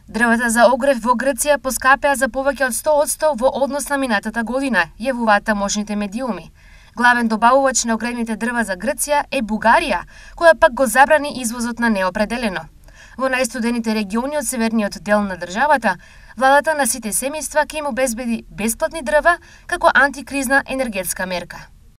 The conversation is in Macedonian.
Дрвата за огрев во Грција поскапеа за повеќе од 100% во однос на минатата година, јавуваат тамошните медиуми. Главен добавувач на огревните дрва за Грција е Бугарија, која пак го забрани извозот на неопределено. Во најстудените региони од северниот дел на државата, владата на сите семејства ќе им обезбеди бесплатни дрва како антикризна енергетска мерка.